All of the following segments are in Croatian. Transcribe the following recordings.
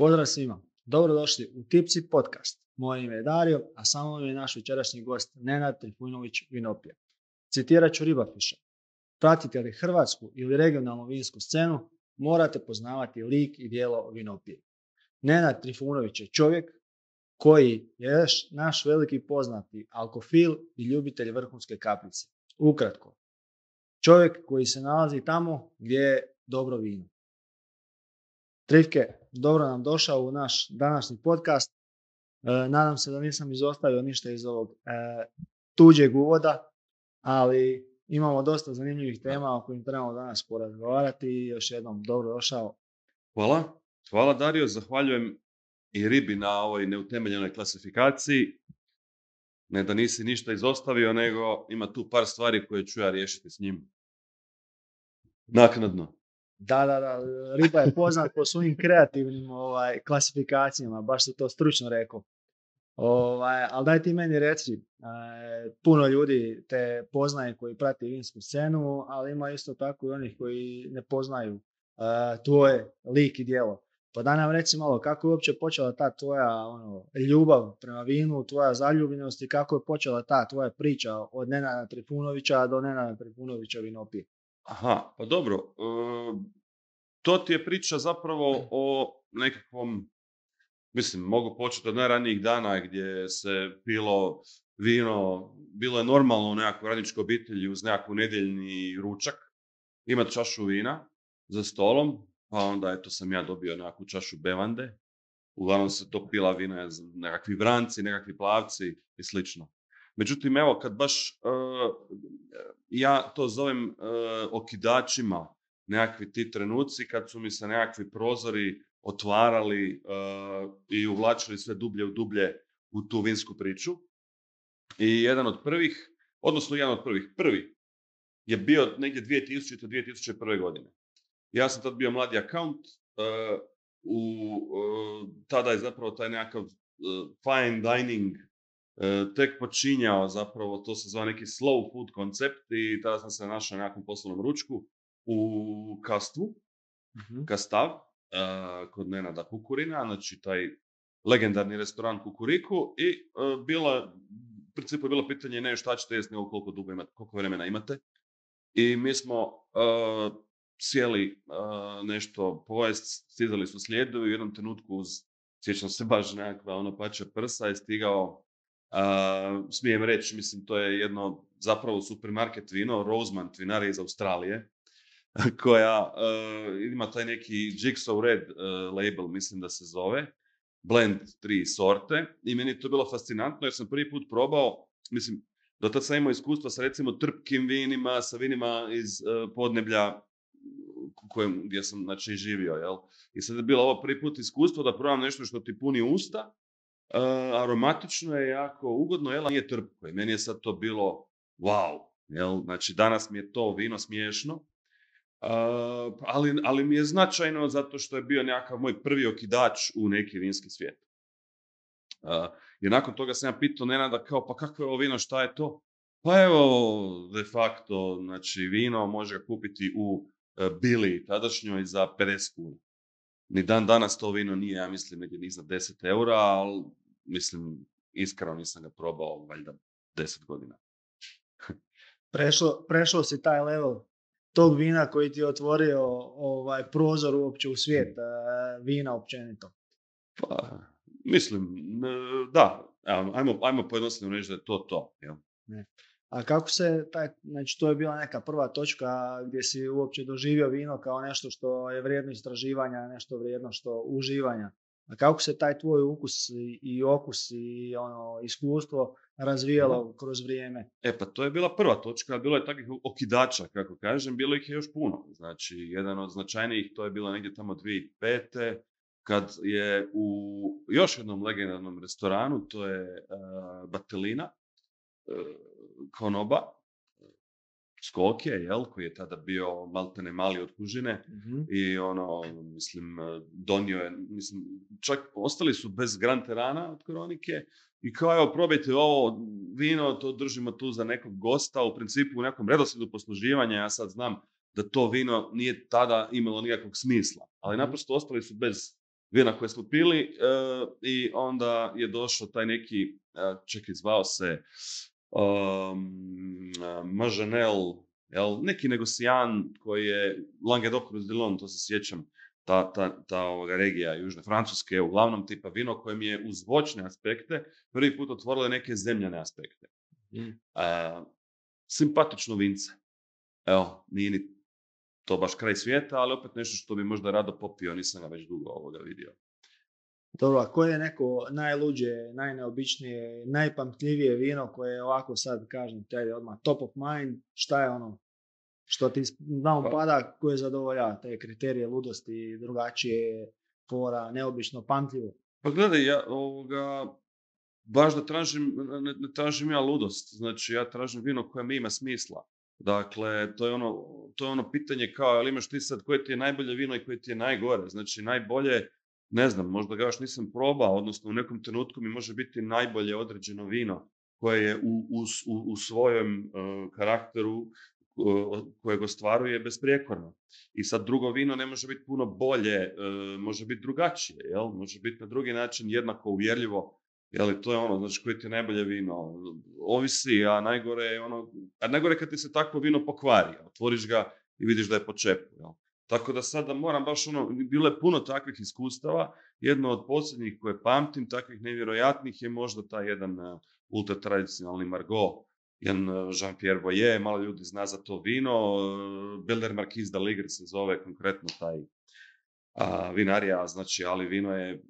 Pozdrav svima, dobrodošli u Tipsi podcast. Moje ime je Dario, a sa mnom je naš večerašnji gost Nenad Trifunović Vinopija. Citirat ću Ribafiša. Pratite li hrvatsku ili regionalnu vinsku scenu, morate poznavati lik i djelo Vinopije. Nenad Trifunović je čovjek koji je naš veliki poznati alkofil i ljubitelj vrhunske kapljice. Ukratko, čovjek koji se nalazi tamo gdje je dobro vino. Trifke, dobro nam došao u naš današnji podcast. Nadam se da nisam izostavio ništa iz ovog tuđeg uvoda, ali imamo dosta zanimljivih tema o kojim trebamo danas porazgovarati i još jednom dobro došao. Hvala Dario, zahvaljujem i Ribi na ovoj neutemeljenoj klasifikaciji. Ne da nisi ništa izostavio, nego ima tu par stvari koje ću ja riješiti s njim. Naknadno. Da, Riba je poznat po svojim kreativnim klasifikacijama, baš si to stručno rekao. Ali daj ti meni reci, puno ljudi te poznaje koji prati vinsku scenu, ali ima isto tako i onih koji ne poznaju tvoje lik i djelo. Pa da nam reci malo kako je uopće počela ta tvoja ljubav prema vinu, tvoja zaljubljenost i kako je počela ta tvoja priča od Nenada Trifunovića do Nenada Trifunovića Vinopije. Aha, pa dobro. To ti je priča zapravo o nekakvom, mogu početi od najranijih dana gdje se pilo vino, bilo je normalno u nekakvoj radničkoj obitelji uz nekakvu nedjeljni ručak, imati čašu vina za stolom, pa onda eto sam ja dobio nekakvu čašu bevande, uglavnom se to pila vina, nekakvi vranci, nekakvi plavci i slično. Međutim, evo, kad baš ja to zovem okidačima, nekakvi ti trenuci kad su mi se nekakvi prozori otvarali i uvlačili sve dublje u dublje u tu vinsku priču. I prvi je bio negdje 2000-2001. godine. Ja sam tad bio mladi akaunt, tada je zapravo taj nekakav fine dining tek počinjao, zapravo to se zva neki slow food koncept i tada sam se našao na nekakvom poslovnom ručku u Kastvu, Kastav, kod Nenada Kukurina, znači taj legendarni restoran Kukuriku i u principu je bilo pitanje ne šta ćete jesti, nego koliko vremena imate. I mi smo sjeli nešto pojest, stizali su slijedovi, u jednom trenutku sjećam se baš nekakva pača prsa je stigao, smijem reći, to je jedno zapravo supermarket vino, Rosemont vinarija iz Australije, koja ima taj neki Jigsaw Red label, mislim da se zove, blend 3 sorte i meni je to bilo fascinantno jer sam prvi put probao, do tada sam imao iskustva sa recimo trpkim vinima, sa vinima iz podneblja gdje sam živio, jel? I sad je bilo ovo prvi put iskustvo da probam nešto što ti puni usta, aromatično je, jako ugodno, jel? Nije trpko i meni je sad to bilo wow, jel? Znači danas mi je to vino smiješno, ali mi je značajno zato što je bio nekakav moj prvi okidač u neki vinski svijet. Jer nakon toga sam ja pitao Nenada kao, pa kako je ovo vino, šta je to? Pa evo, de facto, vino može ga kupiti u Bili tadašnjoj za 50 kuna. Ni dan danas to vino nije, ja mislim, negdje iznad 10 eura, ali iskreno nisam ga probao, valjda 10 godina. Prešao si taj level tog vina koji ti je otvorio prozor uopće u svijet vina općenito. Pa, da. Ajmo pojednostavno reći da je to. Jel? Ne. A kako se to je bila neka prva točka gdje si uopće doživio vino kao nešto što je vrijedno istraživanja, nešto vrijedno što uživanja. A kako se taj tvoj ukus i okus i iskustvo razvijalo kroz vrijeme? Pa to je bila prva točka, bilo je takvih okidača, kako kažem, bilo ih je još puno. Znači, jedan od značajnijih, to je bilo negdje tamo 2005. Kad je u još jednom legendarnom restoranu, to je Batelina, konoba, Skokje, koji je tada bio maltene mali od kužine i donio je, čak ostali su bez Grand Terana od Koronike i kao evo probajte ovo vino, to držimo tu za nekog gosta, u principu u nekom redoslijedu posluživanja, ja sad znam da to vino nije tada imalo nikakvog smisla, ali naprosto ostali su bez vina koje smo pili i onda je došao taj neki, čekaj, zvao se Mažanel, neki negocijan koji je Languedoc-Roussillon, to se sjećam, ta regija Južne Francuske, uglavnom tipa vino kojem je uz voćne aspekte prvi put otvorilo neke zemljane aspekte. Simpatično vince. Evo, nije ni to baš kraj svijeta, ali opet nešto što bi možda rado popio, nisam ga već dugo vidio. Dobro, a koje je neko najluđe, najneobičnije, najpamtljivije vino koje je ovako sad, kažem, te odmah top of mind, šta je ono što ti na um pada, koje zadovoljava te kriterije ludosti, drugačije, fora, neobično, pamtljivo? Pa gledaj, ja baš da ne tražim ja ludost, znači ja tražim vino koje mi ima smisla. Dakle, to je ono pitanje kao, ali imaš ti sad koje ti je najbolje vino i koje ti je najgore. Znači, najbolje, ne znam, možda ga još nisam probao, odnosno u nekom trenutku mi može biti najbolje određeno vino koje je u svojem karakteru kojeg ostvaruje besprijekorno. I sad drugo vino ne može biti puno bolje, može biti drugačije, jel? Može biti na drugi način jednako uvjerljivo. Jel, to je ono, znači, koje ti je najbolje vino. Ovisi, a najgore je najgore kad ti se takvo vino pokvari. Otvoriš ga i vidiš da je po čepu. Jel? Tako da sada moram baš bilo je puno takvih iskustava. Jedno od posljednjih koje pamtim, takvih nevjerojatnih, je možda taj jedan ultra tradicionalni Margaux, jedan Jean-Pierre Boyer, malo ljudi zna za to vino. Belder Marquis d'Aligre se zove konkretno taj vinarija, znači, ali vino je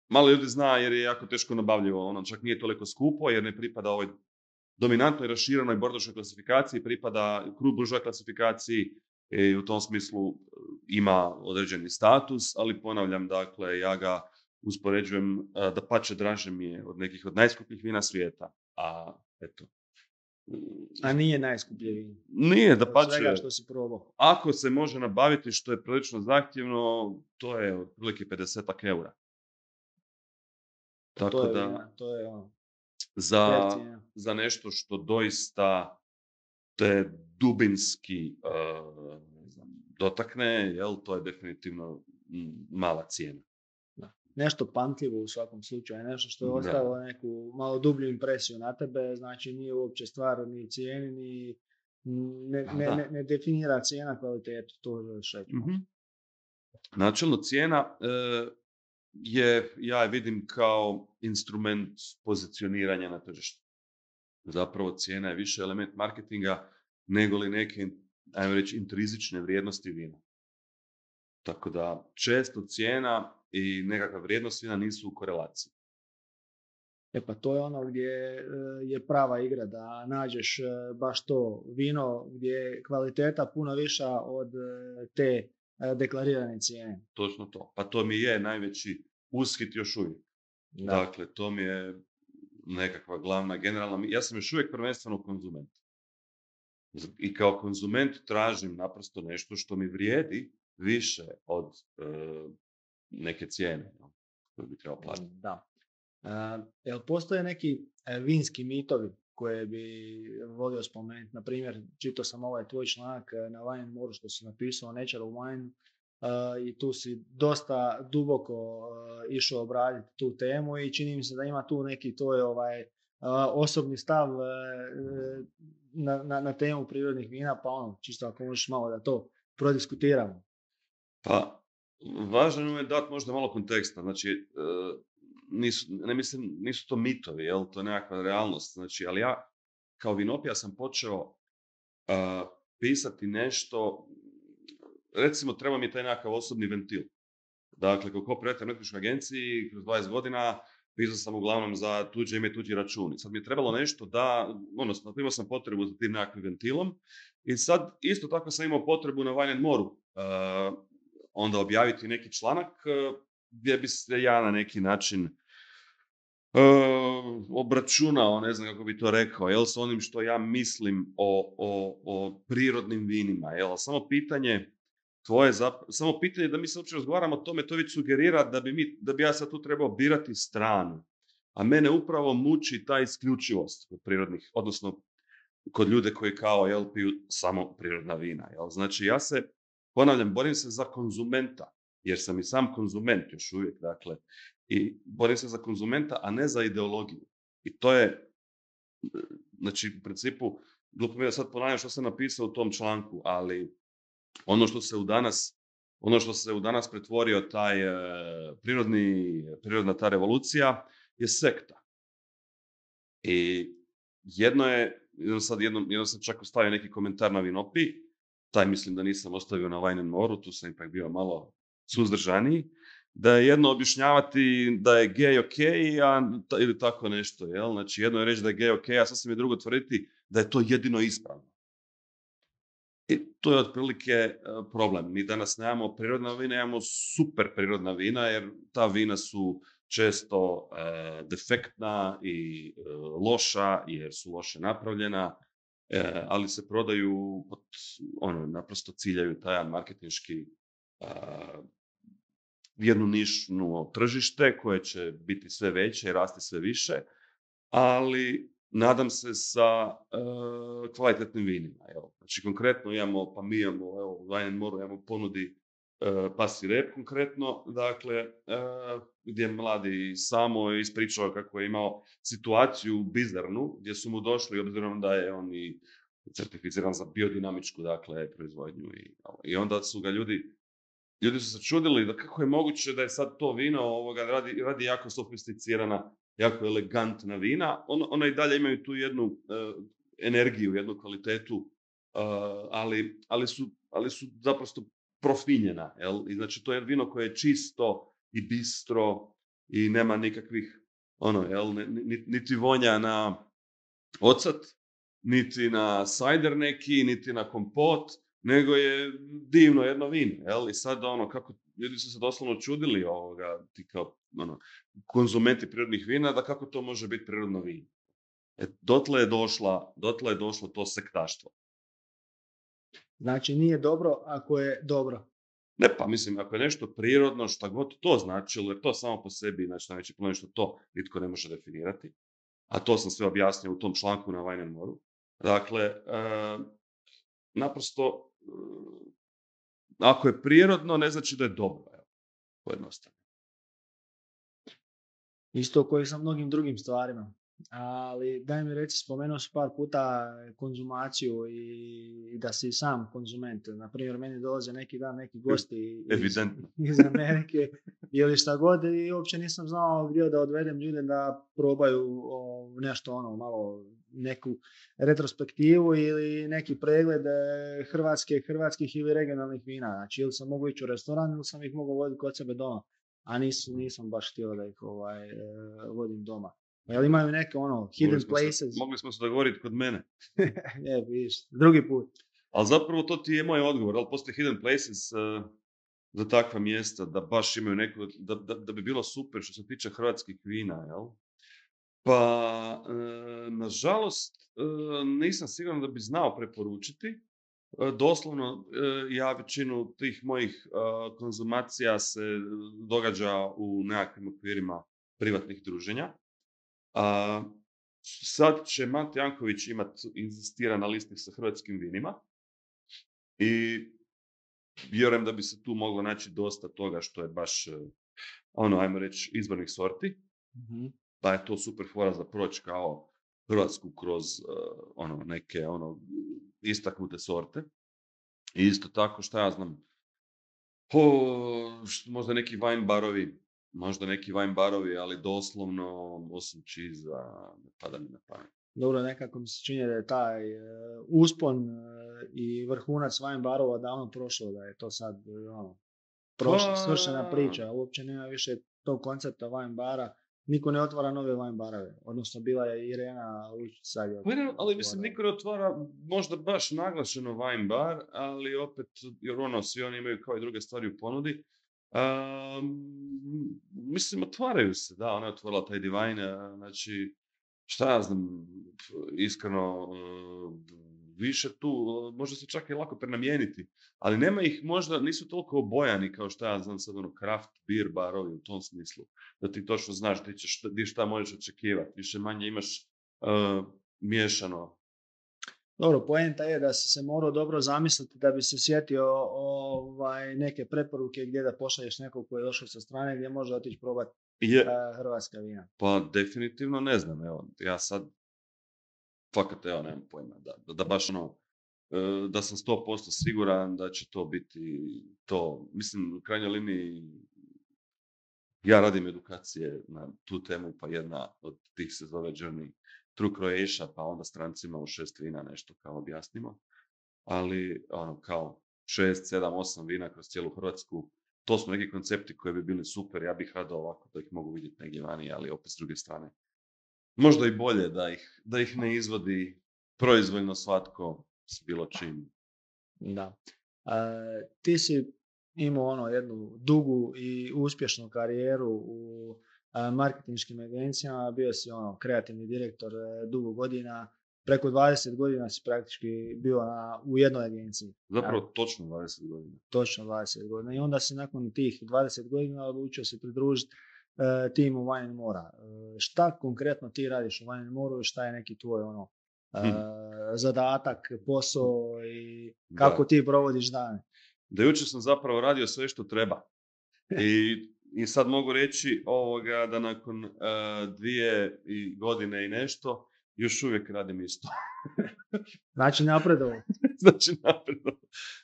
malo ljudi zna jer je jako teško nabavljivo, ono čak nije toliko skupo jer ne pripada ovoj dominantnoj raširenoj bordošoj klasifikaciji, pripada Cru Bourgeois klasifikaciji i u tom smislu ima određeni status, ali ponavljam, dakle, ja ga uspoređujem, dapače draže mi je od nekih od najskupljih vina svijeta, A nije najskuplje vino? Nije, dapače. Svega što si probao. Ako se može nabaviti, što je prilično zahtjevno, to je otprilike 50 eura. Tako to je ono. Za nešto što doista te dubinski dotakne, jel, to je definitivno mala cijena. Da. Nešto pamtljivo u svakom slučaju, nešto što je ostavilo neku malo dublju impresiju na tebe, znači nije uopće stvar ni cijeni, ni ne definira cijena kvalitetu, to želiš reći. Mm-hmm. Načelno cijena ja je vidim kao instrument pozicioniranja na tržištu. Zapravo cijena je više element marketinga nego li neke, ajmo reći, intrizične vrijednosti vina. Tako da često cijena i nekakva vrijednost vina nisu u korelaciji. Pa to je ono gdje je prava igra, da nađeš baš to vino gdje je kvaliteta puno viša od te deklarirane cijene. Točno to. Pa to mi je najveći ushit još uvijek. Da. Dakle, to mi je nekakva glavna, generalna... Ja sam još uvijek prvenstveno konzument. I kao konzument tražim naprosto nešto što mi vrijedi više od neke cijene koju bi trebao platiti. Da. Jel postoje neki vinski mitovi koje bi volio spomenuti? Na primjer, čitao sam ovaj tvoj članak na Wine & More što si napisao Natural Wine i tu si dosta duboko išao obraditi tu temu i čini mi se da ima tu neki tvoj osobni stav na temu prirodnih vina, pa čisto ako možeš malo da to prodiskutiramo. Pa, važno je dati možda malo konteksta, znači nisu to mitovi, jel? To je nekakva realnost, znači, ali ja kao vinopija sam počeo pisati nešto, recimo treba mi taj nekakav osobni ventil. Dakle, kao co-operator u nekakvoj agenciji, kroz 20 godina, pisao sam uglavnom za tuđe ime, tuđi računi. Sad mi je trebalo nešto odnosno imao sam potrebu za tim nekakvim ventilom i sad isto tako sam imao potrebu na Wine & More-u onda objaviti neki članak gdje bi se ja na neki način obračunao, ne znam kako bi to rekao, jel, s onim što ja mislim o prirodnim vinima, jel, samo pitanje da mi se uopće razgovaramo o tome, to već sugerira da bi ja sad tu trebao birati stranu. A mene upravo muči ta isključivost kod prirodnih, odnosno kod ljude koji kao, jel, piju samo prirodna vina. Jel. Znači ja se, ponavljam, borim se za konzumenta. jer sam i sam konzument još uvijek, dakle, i borim se za konzumenta, a ne za ideologiju. I to je, znači, u principu, glupo mi je da sad ponavljam što sam napisao u tom članku, ali ono što se u danas pretvorio taj prirodna ta revolucija je sekta. I jednom sam čak ostavio neki komentar na Vinopi, taj mislim da nisam ostavio na Wine and More, tu sam ipak bio malo suzdržaniji, da je jedno objašnjavati da je gej ok, ili tako nešto, jel? Znači jedno je reći da je gej ok, a sasvim je drugo tvrditi da je to jedino ispravno. I to je otprilike problem. Mi danas nemamo prirodna vina, imamo super prirodna vina, jer ta vina su često defektna i loša, jer su loše napravljena, ali se prodaju naprosto ciljaju taj marketinški jednu nišnu tržište koje će biti sve veće i rasti sve više, ali nadam se sa kvalitetnim vinima. Evo. Znači konkretno mi imamo u Wine and More imamo ponudi Pasi Rep konkretno, dakle, gdje mladi samo ispričao kako je imao situaciju bizarnu, gdje su mu došli, obzirom da je on i certificiran za biodinamičku, dakle, proizvodnju. I onda su ga ljudi su se čudili da kako je moguće da je sad to vino radi jako sofisticirana, jako elegantna vina. Ona i dalje imaju tu jednu energiju, jednu kvalitetu, ali su zaprosto profinjena. Jel? I znači to je vino koje je čisto i bistro i nema nikakvih niti vonja na ocat, niti na sajder neki, niti na kompot, nego je divno jedno vino. Jel? I sad kako ljudi su se doslovno čudili ti kao konzumenti prirodnih vina, da kako to može biti prirodno vino. Dotle je došlo to sektaštvo. Znači nije dobro ako je dobro. Ne, pa mislim, ako je nešto prirodno, šta god to značilo, jer to samo po sebi, znači najveći problem što to nitko ne može definirati, a to sam sve objasnio u tom članku na Wine and More. Dakle, naprosto, ako je prirodno, ne znači da je dobro. Pojednostavno. Isto koji sa mnogim drugim stvarima. Ali daj mi reći, spomenuo si par puta konzumaciju i da si sam konzument. Naprimjer, meni dolaze neki dan neki gosti iz Amerike ili šta god i uopće nisam znao gdje da odvedem ljude da probaju nešto malo neku retrospektivu ili neki pregled hrvatskih ili regionalnih vina. Znači ili sam mogu ići u restoran ili sam ih mogu voditi kod sebe doma. A nisam baš htio da ih vodim doma. Jel imaju neke hidden places? Mogli smo se dogovoriti kod mene. Vidiš, drugi put. Ali zapravo to ti je moj odgovor. Ali postoje hidden places za takva mjesta da baš imaju neko, da bi bilo super što se tiče hrvatskih vina, jel? Pa, nažalost, nisam siguran da bi znao preporučiti. Doslovno, ja većinu tih mojih konzumacija se događa u nekakvim okvirima privatnih druženja. Sad će Mate Janković inzistira na listi sa hrvatskim vinima i vjerujem da bi se tu moglo naći dosta toga što je baš, ajmo reći, izvornih sorti. Mm-hmm. Pa je to super fora za proći kao Hrvatsku kroz neke istaknute sorte. I isto tako, šta ja znam, možda neki wine barovi, ali doslovno, osim čiza, ne pada mi na pamet. Dobro, nekako mi se čini da je taj uspon i vrhunac wine barova davno prošlo, da je to sad svršena priča. Uopće nema više tog koncepta wine bara. Niko ne otvara nove wine barove. Odnosno, bila je Irena Lučić. Ali mislim, niko ne otvara možda baš naglašeno wine bar, ali opet, jer svi oni imaju kao i druge stvari u ponudi. Mislim, otvaraju se, da, ona je otvorila taj Divine, znači, šta ja znam, iskreno, više tu, možda se čak i lako prenamijeniti, ali nema ih možda, nisu toliko obojani kao šta ja znam sad, craft beer barovi u tom smislu, da ti točno znaš šta možeš očekivati, više manje imaš miješano. Dobro, poenta je da si se morao dobro zamisliti da bi se sjetio neke preporuke gdje da pošalješ nekog koji je došao sa strane gdje može otići probati hrvatska vina. Pa definitivno ne znam, evo, ja sad fakat, evo, nemam pojma, da baš da sam 100% siguran da će to biti to. Mislim, u krajnjoj liniji, ja radim edukacije na tu temu, pa jedna od tih se zove Journey Through Croatia, pa onda strancima u 6 vina nešto kao objasnimo. Ali, kao 6, 7, 8 vina kroz cijelu Hrvatsku, to su neki koncepti koji bi bili super, ja bih rado ovako da ih mogu vidjeti negdje vani, ali opet s druge strane. Možda i bolje da ih ne izvodi proizvoljno svatko s bilo čim. Da. Ti si imao jednu dugu i uspješnu karijeru u marketinškim agencijama, bio si kreativni direktor dugo godina, preko 20 godina si praktički bio u jednoj agenciji. Zapravo točno 20 godina. Točno 20 godina i onda si nakon tih 20 godina odlučio se pridružiti timu Wine & Mora. Šta konkretno ti radiš u Wine & Moru i šta je neki tvoj zadatak, posao i kako ti provodiš dane? Da jučer sam zapravo radio sve što treba. I sad mogu reći da nakon 2 godine i nešto još uvijek radim isto. Znači napredovo.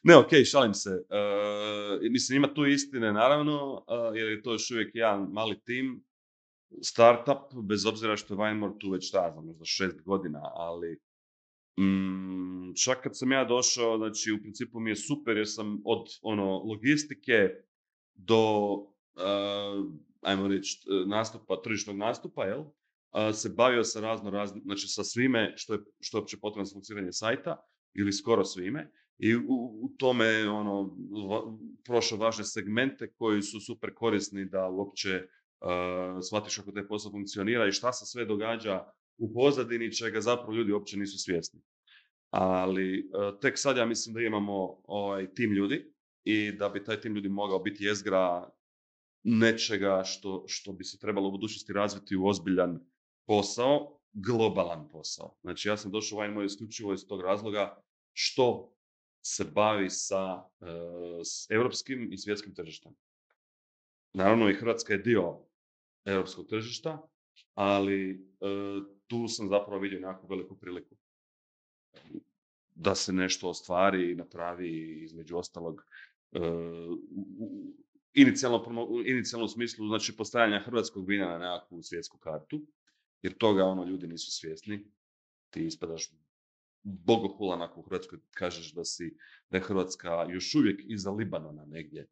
Ne, okej, šalim se. Mislim, ima tu istine, naravno, jer je to još uvijek jedan mali tim, startup, bez obzira što je Wine & More tu već možda 6 godina, ali čak kad sam ja došao, znači u principu mi je super jer sam od logistike do, ajmo reći, tržišnog nastupa, se bavio sa znači sa svime što je uopće potrebno za funkcioniranje sajta, ili skoro svime, i u tome prošao važne segmente koji su super korisni da uopće shvatiš kako taj posao funkcionira i šta se sve događa u pozadini, čega zapravo ljudi uopće nisu svjesni. Ali tek sad ja mislim da imamo tim ljudi i da bi taj tim ljudi mogao biti jezgra nečega što bi se trebalo u budućnosti razviti u ozbiljan posao, globalan posao. Znači ja sam došao u Wine & More isključivo iz tog razloga što se bavi s europskim i svjetskim tržištem. Naravno i Hrvatska je dio europskog tržišta, ali tu sam zapravo vidio nekakvu veliku priliku da se ostvari i napravi, između ostalog, inicijalno u smislu, znači, postavljanja hrvatskog vina na nekakvu svjetsku kartu, jer toga ljudi nisu svjesni. Ti ispadaš bogohulan ako u Hrvatskoj kažeš da je Hrvatska još uvijek iza Libanona negdje,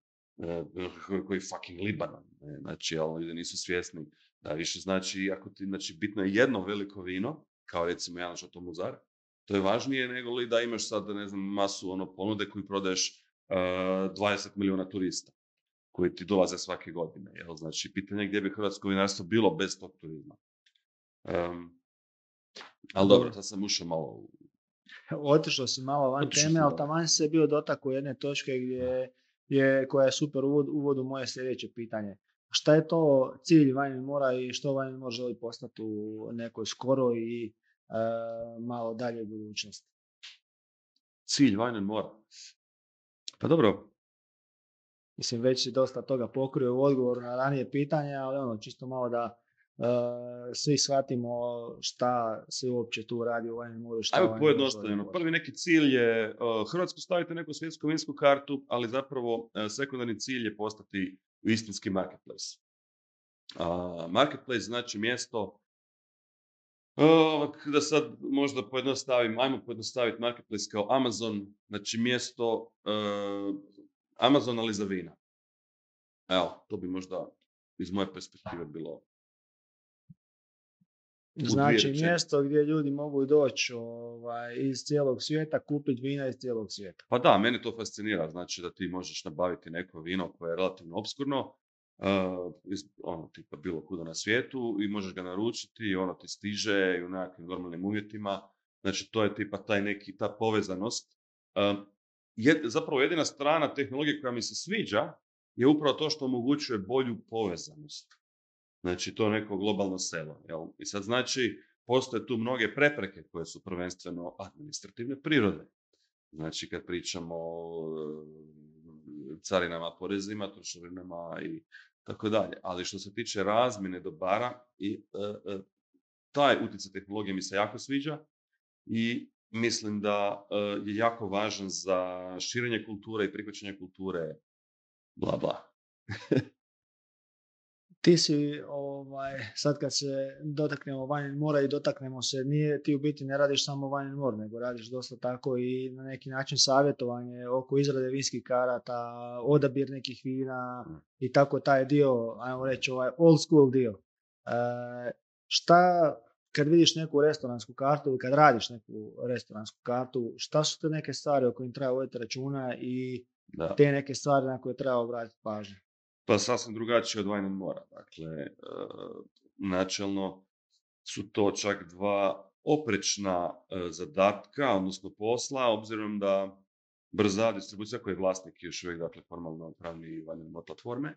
koji fucking Libanon, ne? Znači, ali ljudi nisu svjesni da više znači, ako ti, znači, bitno je jedno veliko vino, kao recimo jedan Chateau Mozart, to je važnije nego li da imaš sad, ne znam, masu ponude koju prodaješ 20 milijuna turista koji ti dolaze svake godine. Jel? Znači, pitanje je gdje bi hrvatsko vinarstvo bilo bez tog turizma. Ali dobro, sad sam ušao malo Otišao si malo van teme, ali taman se bio dotakao jedne točke koja je super uvod u moje sljedeće pitanje. Šta je to cilj Wine & Mora i što Wine & More želi postati u nekoj skoroj i malo dalje budućnosti? Cilj Wine & Mora? Pa dobro. Mislim, već si dosta toga pokrio u odgovoru na ranije pitanja, ali čisto malo da svi shvatimo šta se uopće tu radi u Wine & More. Ajmo pojednostavljeno. Prvi neki cilj je Hrvatsku staviti neku svjetsku vinsku kartu, ali zapravo sekundarni cilj je postati istinski marketplace. Marketplace znači mjesto, da sad možda ajmo pojednostaviti marketplace kao Amazon, znači mjesto Amazon ali za vina. Evo, to bi možda iz moje perspektive bilo. Znači mjesto gdje ljudi mogu doći iz cijelog svijeta, kupiti vina iz cijelog svijeta. Pa da, mene to fascinira. Znači da ti možeš nabaviti neko vino koje je relativno obskurno, tipa bilo kuda na svijetu, i možeš ga naručiti i ono ti stiže i u nekakvim normalnim uvjetima. Znači to je tipa ta povezanost. Zapravo jedina strana tehnologije koja mi se sviđa je upravo to što omogućuje bolju povezanost. Znači to neko globalno selo. Jel? I sad znači postoje tu mnoge prepreke koje su prvenstveno administrativne prirode. Znači, kad pričamo o carinama, porezima, trošarinama i tako dalje. Ali što se tiče razmjene dobara, i taj utjecaj tehnologije mi se jako sviđa i mislim da je jako važan za širenje kulture i prihvaćanje kulture, bla bla. Ti si, sad kad se dotaknemo Wine and More i dotaknemo se, ti u biti ne radiš samo Wine and More, nego radiš dosta tako i na neki način savjetovanje oko izrade vinskih karata, odabir nekih vina i tako taj dio, ajmo reći ovaj old school dio. Šta, kad vidiš neku restoransku kartu ili kad radiš neku restoransku kartu, šta su te neke stvari o kojim treba voditi računa i te neke stvari na koje treba obratiti pažnju? Pa sasvim drugačije od Wine and More. Dakle, načelno su to čak dva oprečna zadatka, odnosno posla, obzirom da brza distribucija, koji je vlasnik još uvijek, dakle, formalno pravni Wine and More platforme,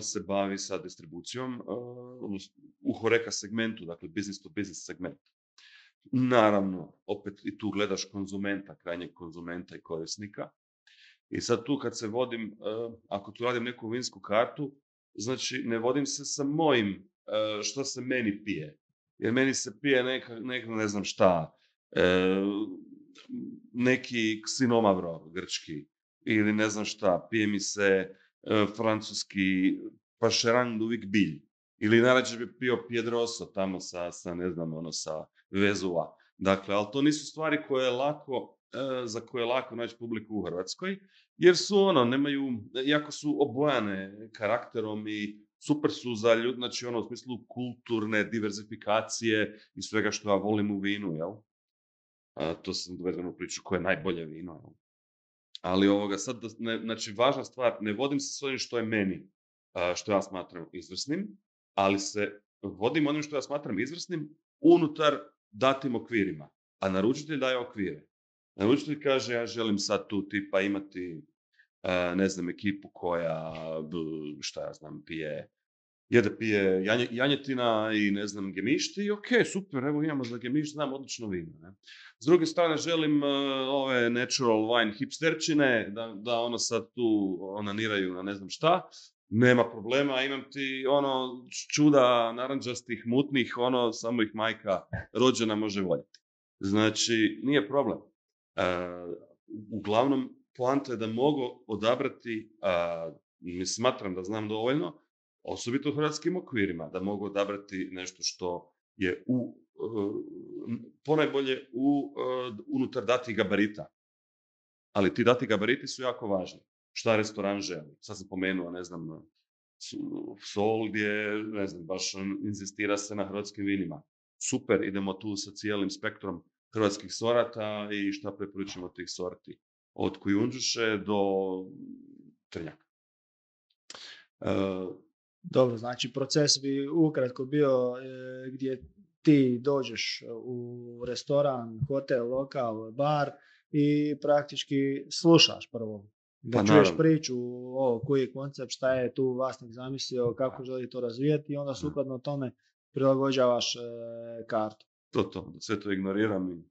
se bavi sa distribucijom u Horeca segmentu, dakle business to business segment. Naravno, opet i tu gledaš konzumenta, krajnjeg konzumenta i korisnika. I sad tu kad se vodim, ako tu radim neku vinsku kartu, znači ne vodim se sa mojim što se meni pije. Jer meni se pije neka ne znam šta, neki ksinomavro grčki ili ne znam šta, pije mi se francuski pašerang uvijek bilj. Ili najrađe bi pio Piedroso tamo sa ne znam, sa Vezua. Dakle, ali to nisu stvari za koje je lako naći publiku u Hrvatskoj, jer su nemaju, jako su obojane karakterom i super su za ljudi, znači u smislu kulturne diverzifikacije i svega što ja volim u vinu, jel? To sam dovedeno u priču koje je najbolje vino, jel? Ali sad, znači važna stvar, ne vodim se s onim što je meni, što ja smatram izvrsnim, ali se vodim onim što ja smatram izvrsnim unutar datim okvirima, a naručitelj daje okvire. Naručitelj kaže, ja želim sad tu tipa imati, ne znam, ekipu koja, šta ja znam, pije janjetina i ne znam, gemišti i ok, super, evo imamo za gemišt, znam odlično vino. Ne? S druge strane, želim ove natural wine hipsterčine, da sad tu onaniraju na ne znam šta, nema problema, imam ti čuda naranđastih, mutnih, samo ih majka rođena može voljeti. Znači, nije problem. Uglavnom, poanta je da mogu odabrati, smatram da znam dovoljno, osobito u hrvatskim okvirima, da mogu odabrati nešto što je ponajbolje unutar datih gabarita. Ali ti dati gabariti su jako važni. Šta restoran želi? Sad sam pomenuo, ne znam, Sol gdje, ne znam, baš inzistira se na hrvatskim vinima. Super, idemo tu sa cijelim spektrom hrvatskih sorata i šta preporučujemo tih sorti. Od kujundžuše do trnjaka. Dobro, znači proces bi ukratko bio gdje ti dođeš u restoran, hotel, lokal, bar i praktički slušaš prvo. Da čuješ priču koji je koncept, šta je tu vlasnik zamislio, kako želi to razvijati i onda sukladno tome prilagođavaš kartu. To, sve to ignoriram i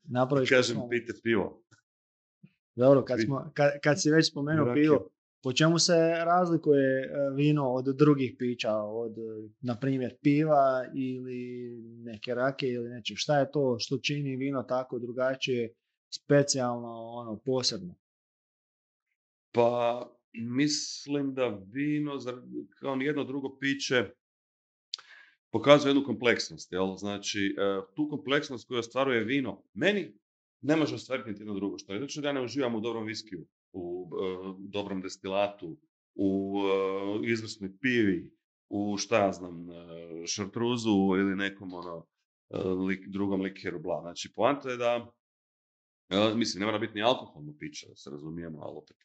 napraviš kažem pijte pivo. Dobro, kad si već spomenuo pivo, po čemu se razlikuje vino od drugih pića, od, na primjer, piva ili neke rake ili nečeg? Šta je to što čini vino tako drugačije, specijalno, posebno? Pa, mislim da vino, kao nijedno drugo piće, pokazuje jednu kompleksnost. Jel? Znači, tu kompleksnost koju ostvaruje vino, meni ne može ostvariti niti jedno drugo. Što je znači da ja ne uživam u dobrom viskiju, u dobrom destilatu, u izvrsnoj pivi, u šta ja znam, šartruzu ili nekom drugom likeru, bla. Znači, poanta je da, mislim, ne mora biti ni alkoholno piće, da se razumijemo, ali opet.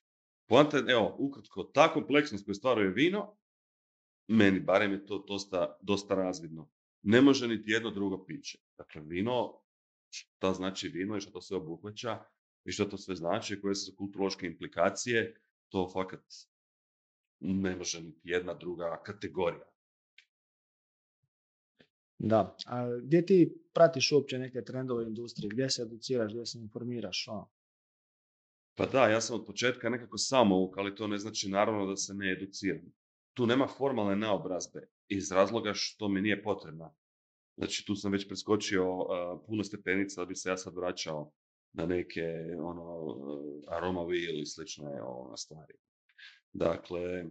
Poanta je, evo, ukratko, ta kompleksnost koju stvaruje vino, meni barem je to dosta razvidno. Ne može niti jedno drugo piće. Dakle, vino, šta znači vino i što to sve obuhvaća i što to sve znači, koje su kulturološke implikacije, to fakat ne može niti jedna druga kategorija. Da. A gdje ti pratiš uopće neke trendove industrije? Gdje se educiraš, gdje se informiraš? Pa da, ja sam od početka nekako samouk, ali to ne znači naravno da se ne educiram. Tu nema formalne naobrazbe iz razloga što mi nije potrebna. Znači tu sam već preskočio puno stepenica da bi se ja sad vraćao na neke aroma wheel i slične stvari. Dakle,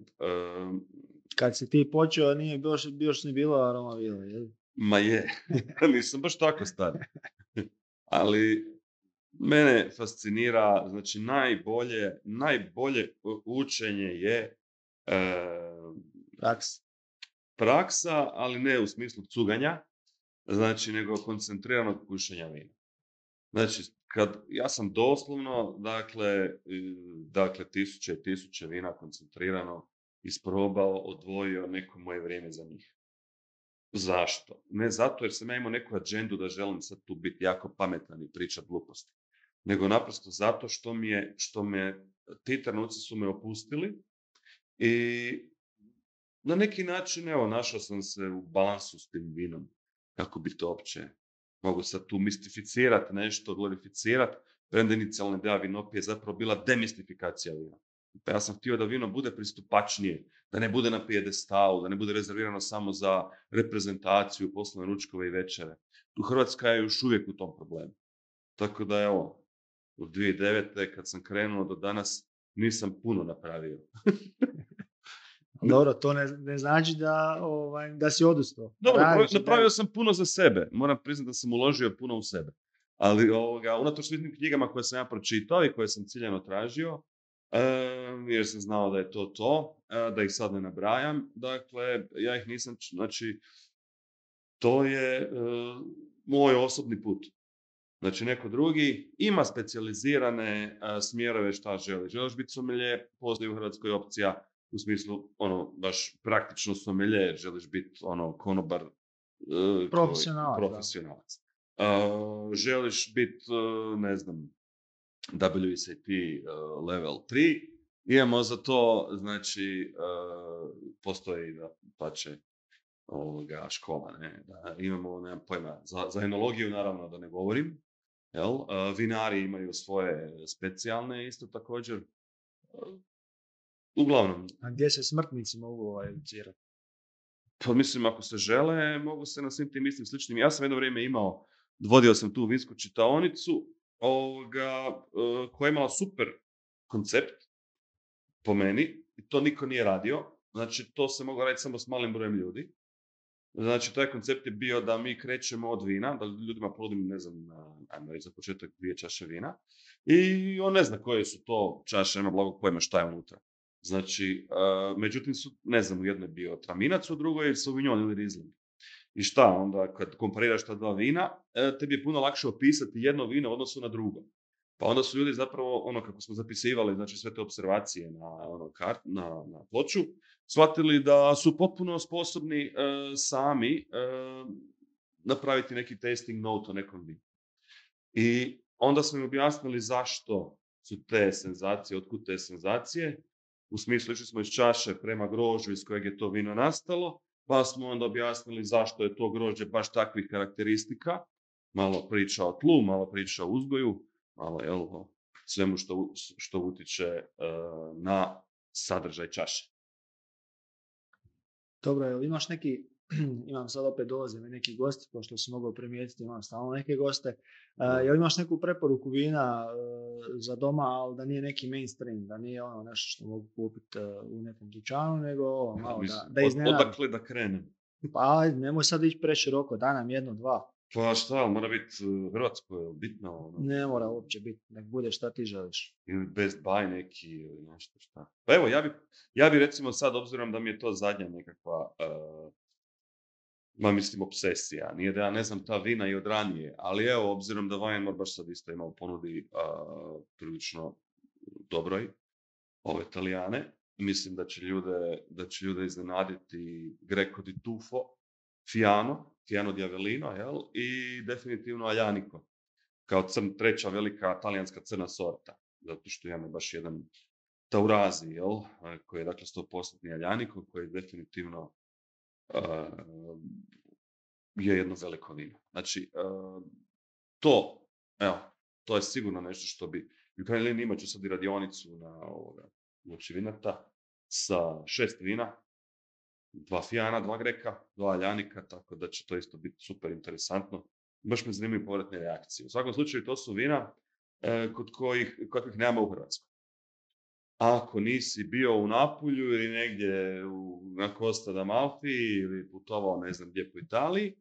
Kad si ti počeo, nije još ni bilo aroma vile, jel? ma je, nisam baš tako star. Ali mene fascinira, znači najbolje učenje je Praks. praksa, ali ne u smislu cuganja, znači nego koncentriranog pušenja vina. Znači, ja sam doslovno, dakle, tisuće i tisuće vina koncentrirano isprobao, odvojio neko moje vrijeme za njih. Zašto? Ne zato jer sam ja imao neku agendu da želim sad tu biti jako pametan i pričat gluposti, nego naprosto zato što me ti trenuci su me opustili i na neki način, evo, našao sam se u balansu s tim vinom. Kako bi to opće mogu sad tu mistificirati nešto, glorificirati, premda inicijalna ideja vinopije je zapravo bila demistifikacija vina. Pa ja sam htio da vino bude pristupačnije, da ne bude na pijedestalu, da ne bude rezervirano samo za reprezentaciju, poslovne ručkove i večere. Tu Hrvatska je još uvijek u tom problemu. Tako da, evo, od 2009. kad sam krenuo do danas, nisam puno napravio. Dobro, to ne znači da si odustao. Dobro, napravio sam puno za sebe. Moram priznati da sam uložio puno u sebe. Ali unatoč svim knjigama koje sam ja pročitao i koje sam ciljano tražio, jer sam znao da je to, da ih sad ne nabrajam. Dakle, ja ih nisam, znači, to je moj osobni put. Znači, neko drugi ima specijalizirane smjerove šta želi. Želiš biti sommelier, postoji u Hrvatskoj opcija u smislu, baš praktično sommelier, želiš biti, konobar, profesionalac. Želiš biti, ne znam, WSET level 3, imamo za to, znači, postoji pače škola, ne? Da, imamo, nemam pojma, za enologiju naravno da ne govorim, jel? Vinari imaju svoje specijalne isto također. Uglavnom. A gdje se smrtnici mogu educirati? Pa mislim, ako se žele, mogu se na svim tim istim sličnim. Ja sam jedno vrijeme vodio sam tu vinsku čitaonicu, koja je imala super koncept, po meni, i to niko nije radio. Znači, to se moglo raditi samo s malim brojem ljudi. Znači, taj koncept je bio da mi krećemo od vina, da ljudima ponudim, ne znam, ajmo reći za početak 2 čaše vina, i on ne zna koje su to čaše, nema blagog pojma šta je unutra. Znači, međutim, ne znam, u jednoj je bio traminac, u drugoj je sauvignon ili riesling. I šta, onda kad kompariraš ta dva vina, tebi je puno lakše opisati jedno vino u odnosu na drugo. Pa onda su ljudi zapravo, kako smo zapisivali, znači sve te observacije na ploču, shvatili da su potpuno sposobni sami napraviti neki tasting note o nekom vinu. I onda smo im objasnili zašto su te senzacije, otkud te senzacije. U smislu, išli smo iz čaše prema grožđu iz kojeg je to vino nastalo, pa smo onda objasnili zašto je to grožđe baš takvih karakteristika. Malo priča o tlu, malo priča o uzgoju, malo svemu što utiče na sadržaj čaše. Dobro, jel imaš neki, imam sad opet dolaze mi neki gosti, pošto si mogao primijetiti, imam stalno neke goste, jel imaš neku preporuku vina za doma, ali da nije neki mainstream, da nije nešto što mogu kupiti u nekom dućanu, nego malo da iznenadi. Odakle da krenem? Pa nemoj sad ići preširoko, daj nam 1-2. Pa šta, mora biti hrvatsko, bitno? Ne mora uopće biti, nek bude šta ti želiš. Ili best buy neki, ili nešto šta. Pa evo, ja bi recimo sad, obzirom da mi je to zadnja nekakva, mislim, obsesija. Nije da ja ne znam ta vina i od ranije, ali evo, obzirom da Weinmar baš sad isto ima u ponudi prilično dobroj ove Italijane, mislim da će ljude iznenaditi Greco di Tufo, Fiano di Avellino, jel? I definitivno Aglianico, kao treća velika talijanska crna sorta, zato što imamo baš jedan Taurasi, jel? Koji je dakle 100% Aglianico, koji je definitivno je jedno veliko vino. Znači, to je sigurno nešto što bi, u krajnjoj liniji imat ću sad i radionicu na uoči vinata sa 6 vina, 2 Fijana, 2 Greka, 2 Aljanika, tako da će to isto biti super interesantno. Baš me zanimaju povratne reakcije. U svakom slučaju to su vina kod kojih nema u Hrvatskoj. Ako nisi bio u Napulju ili negdje na Costa d'Amalfi ili putovao ne znam gdje po Italiji,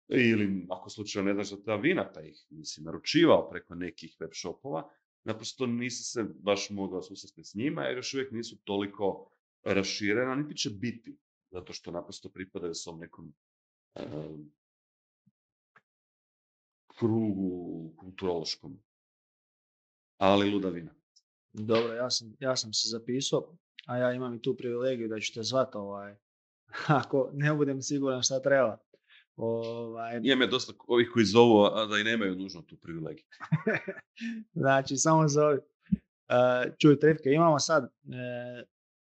ili ako slučajno ne znaš za ta vina pa ih nisi naručivao preko nekih web shopova, naprosto nisi se baš mogao susresti s njima jer još uvijek nisu toliko raširena, niti će biti, zato što naprosto pripadaju svom nekom krugu kulturološkom. Ali luda vina. Dobro, ja sam se zapisao, a ja imam i tu privilegiju da ću te zvati ako ne budem siguran šta treba. Imam je dosta ovih koji zovu, a da i nemaju nužno tu privilegiju. Znači, samo zovi. Čuj, Trifke, imamo sad,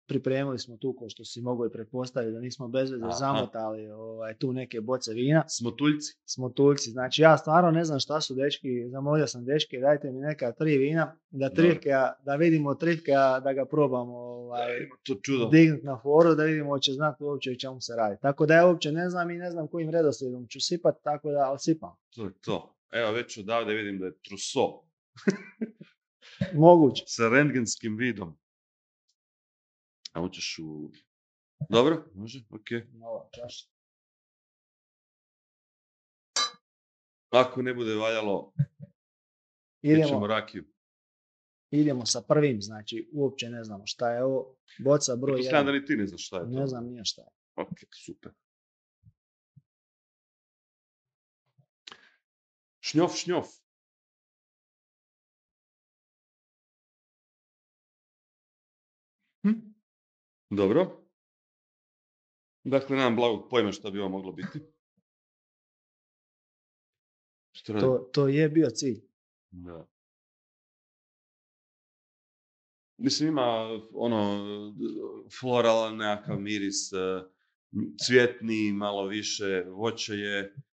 pripremili smo tu, ko što si mogli pretpostaviti, da nismo bez veze zamotali tu neke boce vina. Smotuljci. Znači, ja stvarno ne znam šta su dečki, zamolio sam dečki, dajte mi neka 3 vina, da vidimo Trifkea, da ga probamo dignuti na foru, da vidimo hoće znati uopće o čemu se radi. Tako da ja uopće ne znam i ne znam kojim redoslijedom ću sipati, tako da odsipam. To. Evo, već odavde vidim da je Trousseau. Moguće. Sa rentgenskim vidom. A hoćeš u... Dobro, može, okej. Nova čaša. Ako ne bude valjalo, ćemo rakiju. Idemo sa prvim, znači uopće ne znamo šta je ovo. Boca broj 1. Pretpostavljam da ni ti ne znaš šta je to. Ne znam nije šta je. Ok, super. Šnjof. Dobro. Dakle, nemam blagog pojma šta bi ovo moglo biti. To je bio cilj. Da. Mislim, ima floralan nekakav miris, cvjetni, malo više,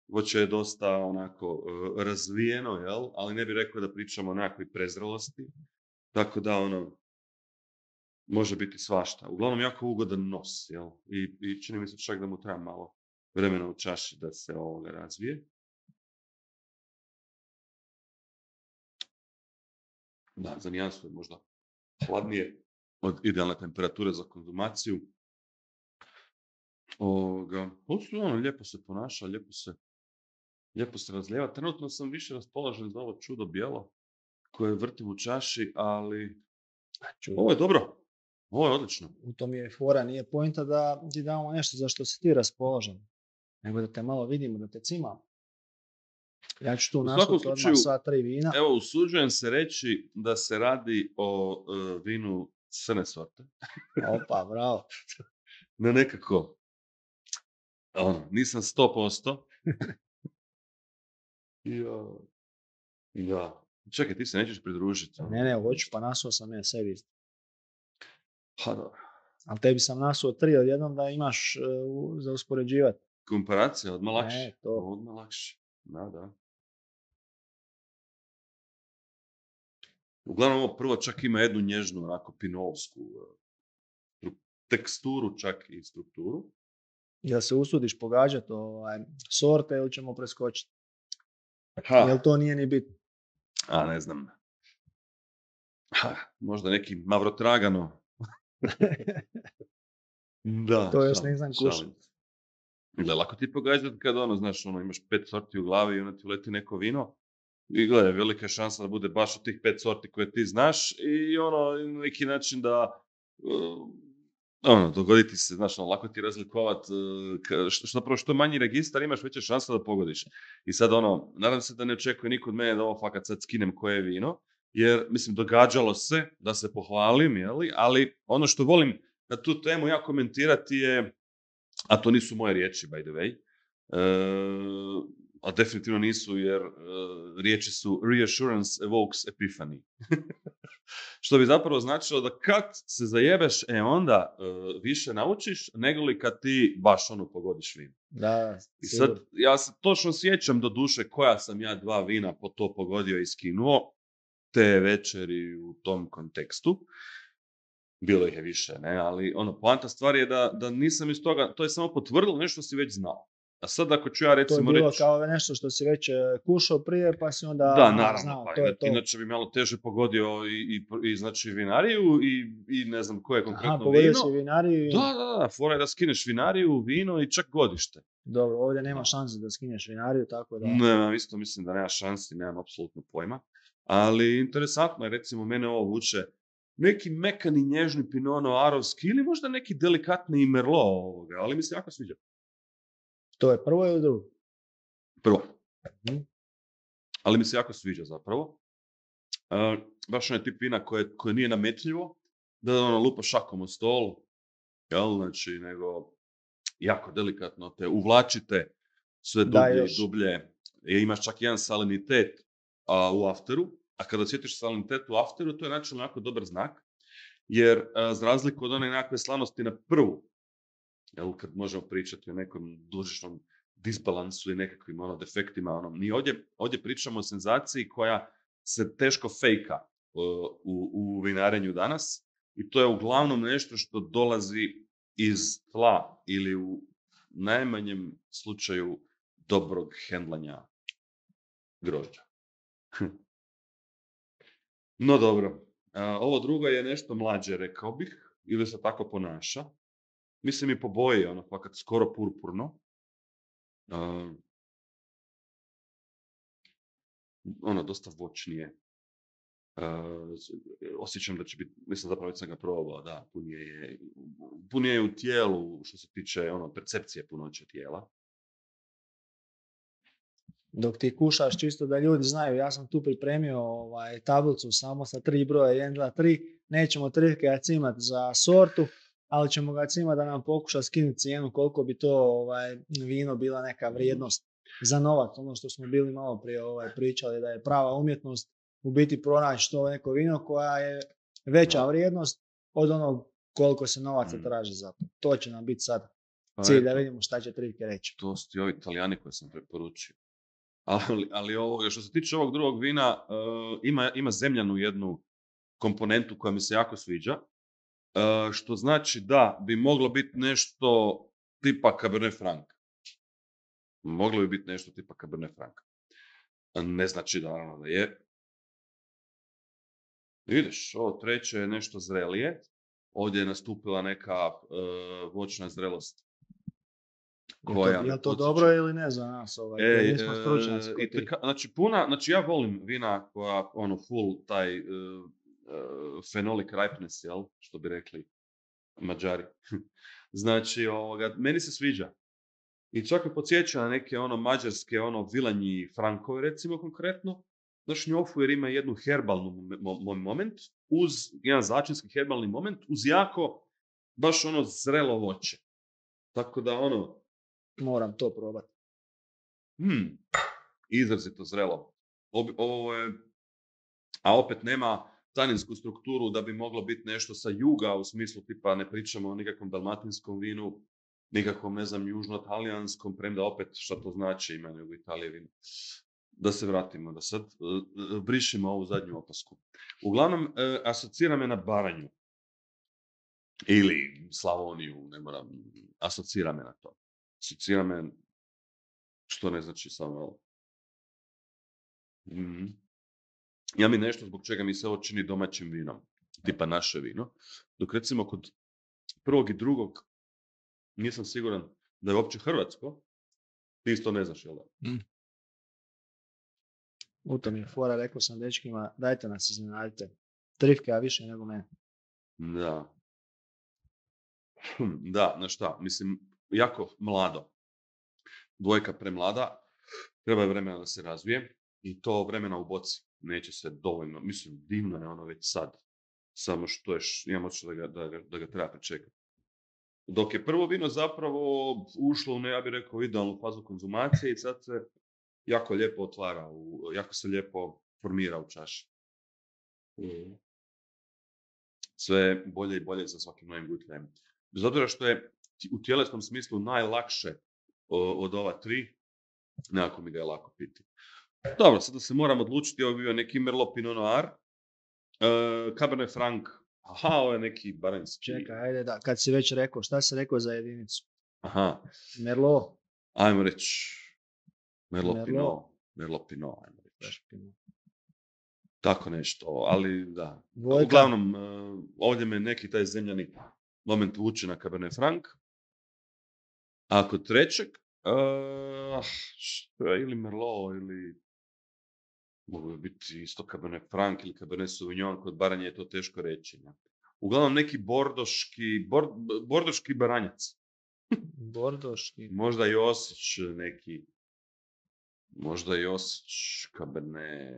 voće je dosta onako razvijeno, jel? Ali ne bih rekao da pričamo o nekakvoj prezrelosti. Tako da može biti svašta. Uglavnom jako ugodan nos, jel? I čini mi se čak da mu treba malo vremena u čaši da se ovoga razvije. Da, za nijansu je možda hladnije od idealne temperature za konzumaciju. Lijepo se ponaša, lijepo se razlijeva. Trenutno sam više raspoložen za ovo čudo bijelo koje vrtim u čaši, ali ovo je dobro. Ovo je odlično. U tom je fora, nije pointa da ti damo nešto za što si ti raspoložen, nego da te malo vidimo, da te cimamo. Ja ću tu nasuti odmah sva 3 vina. Evo, usuđujem se reći da se radi o vinu crne sorte. Opa, bravo. Ne nekako, nisam 100%. Ja. Čekaj, ti se nećeš pridružiti. Ne, hoću, pa nasuo sam ja sebi. Pa dobro. Ali tebi sam nasuo 3 odjednom da imaš za uspoređivati. Komparacija, odmah lakše. Odmah lakše. Da. Uglavnom ovo prvo čak ima jednu nježnu, onako pinovsku teksturu, čak i strukturu. Jel se usudiš pogađati sorte ili ćemo preskočiti? Jel to nije ni bitno? Ne znam. Možda neki Mavrotragano. Da. To još nisam kušao. Lako ti pogađati kad imaš 5 sorti u glavi i onda ti uleti neko vino. I gledaj, velika je šansa da bude baš od tih 5 sorti koje ti znaš i na neki način da dogoditi se, lako ti razlikovati, što manji registar imaš, veća šansa da pogodiš. I sad nadam se da ne očekuje niko od mene da ovo fakat sad skinem koje je vino, jer mislim događalo se da se pohvalim, ali ono što volim na tu temu ja komentirati je, a to nisu moje riječi by the way, a definitivno nisu jer riječi su reassurance evokes epiphany. Što bi zapravo značilo da kad se zajebeš, onda više naučiš nego li kad ti baš pogodiš vino. Da, I sad, ja se točno sjećam do duše koja sam ja 2 vina po to pogodio i skinuo te večeri u tom kontekstu. Bilo ih je više, ne, ali poanta stvar je da nisam iz toga, to je samo potvrdilo nešto što si već znao. A sad ako ću ja recimo reći... To je bilo kao nešto što si već kušao prije, pa si onda naravno, znao, pa, to je to. Inače bi malo teže pogodio i znači vinariju i ne znam koje konkretno vino. Pogodio si vinariju. Da, fora je da skineš vinariju, vino i čak godište. Dobro, ovdje nema šanse da skineš vinariju, tako da... Ne, isto mislim da nema šansi, nemam apsolutno pojma. Ali interesantno je, recimo, mene ovo vuče neki mekani, nježni Pinot Noirovski ili možda neki delikatni i Merlot ovoga, ali mi se jako sviđa. To je prvo ili drugo? Prvo. Ali mi se jako sviđa zapravo. Baš onaj tip vina koje nije nametljivo, da lupa šakom o stolu, znači, nego jako delikatno te uvlačite sve dublje i dublje. Imaš čak jedan salinitet u afteru, a kada osjetiš salinitet u afteru, to je načelno jako dobar znak, jer za razliku od one nekakve slanosti na prvu, kad možemo pričati o nekom dušičnom disbalansu i nekakvim defektima, mi ovdje pričamo o senzaciji koja se teško fejka u vinarenju danas i to je uglavnom nešto što dolazi iz tla ili u najmanjem slučaju dobrog hendlanja grožđa. No dobro, ovo drugo je nešto mlađe, rekao bih, ili se tako ponaša. Mislim i po boji, fakat skoro purpurno. Dosta voćnije. Osjećam da će biti, mislim zapravo već sam ga probao, da, punije je u tijelu što se tiče percepcije punoće tijela. Dok ti kušaš, čisto da ljudi znaju, ja sam tu pripremio tablicu samo sa 3 broja, 1, 2, 3, nećemo trivke cimati za sortu, ali ćemo ga cimati da nam pokuša skinuti cijenu koliko bi to vino bila neka vrijednost za novac, ono što smo bili malo prije pričali da je prava umjetnost u biti pronaći to neko vino koja je veća vrijednost od onog koliko se novaca traži za to. To će nam biti sad cilj da vidimo šta će trivke reći. To su ti ovi Italijani koje sam preporučio. Ali što se tiče ovog drugog vina, ima zemljanu jednu komponentu koja mi se jako sviđa, što znači da bi moglo biti nešto tipa Cabernet Franc. Moglo bi biti nešto tipa Cabernet Franc. Ne znači da je. Vidiš, ovo treće je nešto zrelije. Ovdje je nastupila neka voćna zrelost. Je li to dobro ili ne za nas? Nismo stručnjaci. Znači ja volim vina koja full taj phenolic ripeness, što bi rekli Mađari. Znači, meni se sviđa. I čak me podsjeća na neke mađarske vilanji Frankove, recimo konkretno. Znaš, njofu jer ima jednu herbalnu moment, uz jedan začinski herbalni moment, uz jako baš zrelo voće. Tako da moram to probati. Izrazito zrelo. Ovo je, a opet nema taninsku strukturu da bi moglo biti nešto sa juga, u smislu tipa ne pričamo o nikakvom dalmatinskom vinu, nikakvom, ne znam, južno-talijanskom, premda opet šta to znači ima u Italiji vino. Da se vratimo, da sad brišimo ovu zadnju opasku. Uglavnom, asocira me na Baranju. Ili Slavoniju, ne moram, asocira me na to. Asocira me, što ne znači samo ovo. Ja mi nešto zbog čega mi se ovo čini domaćim vinom, tipa naše vino, dok recimo kod prvog i drugog nisam siguran da je uopće hrvatsko, ti isto ne znaš, jel da? U tom je fora, rekao sam dečkima, dajte nas iznenadite. Trivke, a više nego mene. Da. Da, znaš šta, mislim, jako mlado. Dvojka premlada, treba je vremena da se razvije i to vremena u boci. Neće se dovoljno, mislim, divno je već sad. Samo što imam očito da ga treba pričekati. Dok je prvo vino zapravo ušlo u, ja bih rekao, idealnu fazu konzumacije i sad se jako lijepo otvara, jako se lijepo formira u čaši. Sve bolje i bolje sa svakim novim gutljajem. Bez obzira što je u tjelesnom smislu najlakše od ova 3, nekako mi ga je lako piti. Dobro, sada se moram odlučiti, ovo je bio neki Merlot Pinot Noir, Cabernet Franc, ovo je neki baranjski. Čekaj, ajde da, kad si već rekao, šta si rekao za jedinicu? Aha. Merlot. Ajmo reći, Merlot Pinot, ajmo reći. Tako nešto, ali da. Dvojka. Uglavnom, ovdje me neki taj zemljani moment vuče na Cabernet Franc. A kod trećeg, ili Merlot, ili mogu biti isto Cabernet Franc ili Cabernet Sauvignon, kod Baranje je to teško reći. Ne? Uglavnom neki bordoški baranjac. Bordoški. Možda Josić neki, možda Josić Cabernet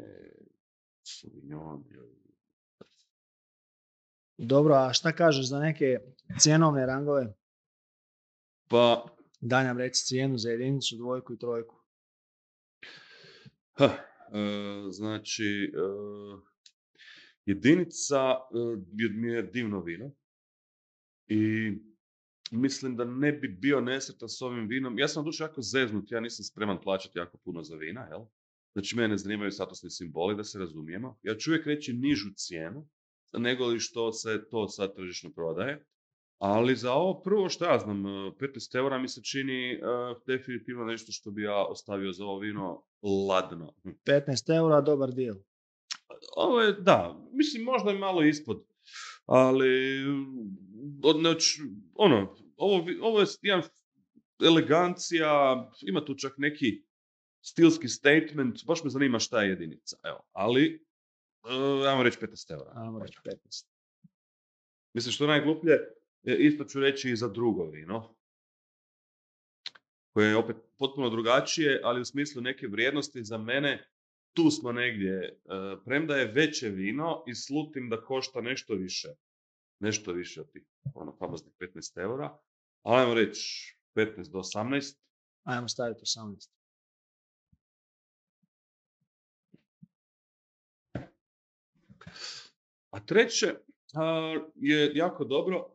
Sauvignon. Dobro, a šta kažeš za neke cjenovne rangove? Pa... Daj nam reci cijenu za jedinicu, dvojku i trojku. Znači, jedinica mi je divno vino i mislim da ne bi bio nesretan s ovim vinom. Ja sam duše jako zeznut, ja nisam spreman plaćati jako puno za vina, jel? Znači, mene ne zanimaju statusni simboli, da se razumijemo. Ja ću uvijek reći nižu cijenu, nego li što se to sad tržišno prodaje. Ali za ovo prvo što ja znam, 15 eura mi se čini definitivno nešto što bi ja ostavio za ovo vino ladno. 15 eura, dobar deal. Ovo je, da, mislim možda i malo ispod, ali ovo je jedan elegancija, ima tu čak neki stilski statement, baš me zanima šta je jedinica, evo, ali ajmo reći 15 eura. Ajmo reći 15. Mislim što je najgluplje, isto ću reći i za drugo vino, koje je opet potpuno drugačije, ali u smislu neke vrijednosti za mene, tu smo negdje, premda je veće vino i slutim da košta nešto više od tih famoznih 15 eura, ali ajmo reći 15 do 18. Ajmo staviti 18. A treće je jako dobro.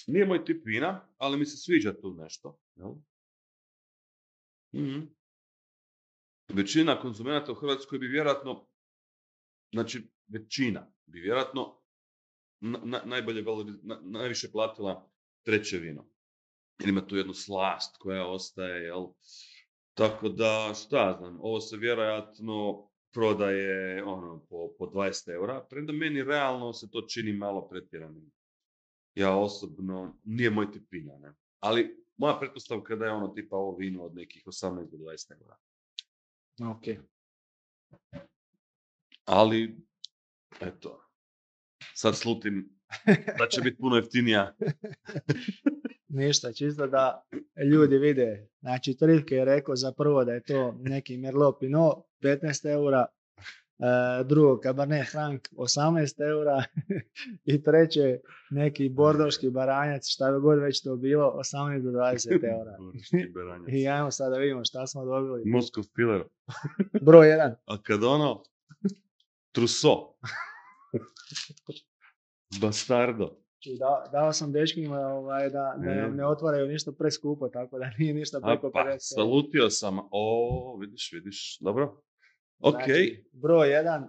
Nije moj tip vina, ali mi se sviđa tu nešto. Jel? Mm-hmm. Većina konzumenata u Hrvatskoj bi vjerojatno, najviše platila treće vino. Jer ima tu jednu slast koja ostaje, jel? Tako da, šta znam, ovo se vjerojatno prodaje po 20 eura, premda meni realno se to čini malo pretjeranim. Ja osobno, nije moj tip vina, ne? Ali moja pretpostavka da je tipa ovo vino od nekih 18 do 20 eura. Ok. Ali, eto, sad slutim da će biti puno jeftinija. Ništa, čisto da ljudi vide. Znači, Trivke je rekao za prvo da je to neki Merlot Pinot, 15 eura, drugo Cabernet Franc, 18 eura i treće neki bordoški baranjac, šta god već to bilo, 18 do 20 eura. I ajmo sad da vidimo šta smo dobili. Moskov Pilar. Broj 1. A kad Trousseau. Bastardo. Dao sam dečkima da nam ne otvaraju ništa preskupo, tako da nije ništa preko 50. Salutio sam. Vidiš, dobro. Ok. Znači, broj 1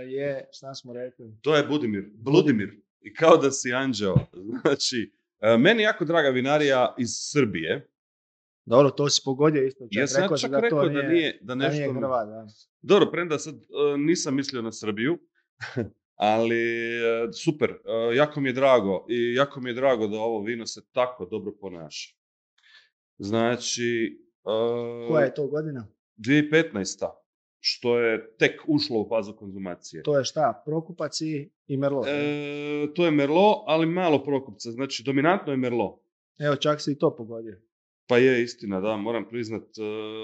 je, šta smo rekli? To je Budimir. I kao da si anđeo. Znači, meni jako draga vinarija iz Srbije. Dobro, to si pogodio isto. Ja sam čak rekao da nije Hrvat, da. Dobro, premda sad nisam mislio na Srbiju, ali super, jako mi je drago i jako mi je drago da ovo vino se tako dobro ponaša. Znači... Koja je to godina? 2015. Što je tek ušlo u fazu konzumacije. To je šta? Prokupac i Merlot? To je Merlot, ali malo prokupca. Znači, dominantno je Merlot. Evo, čak si i to pogodio. Pa je istina, da, moram priznat,